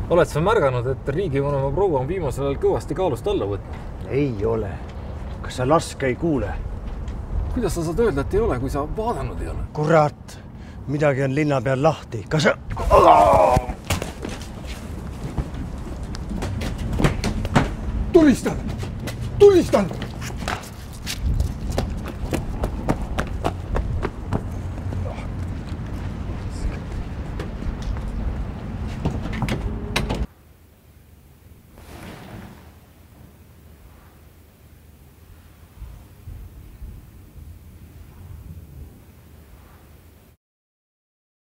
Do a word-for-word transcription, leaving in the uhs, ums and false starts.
Oled sa märganud, et riigivanema proua on viimasel ajal kõvasti kaalust alla võtnud? Ei ole. Kas sa laske ei kuule? Kuidas sa saad öelda, et ei ole, kui sa vaadanud ei ole? Kurat, midagi on linna peal lahti. Kas sa... Tulistan! Tulistan!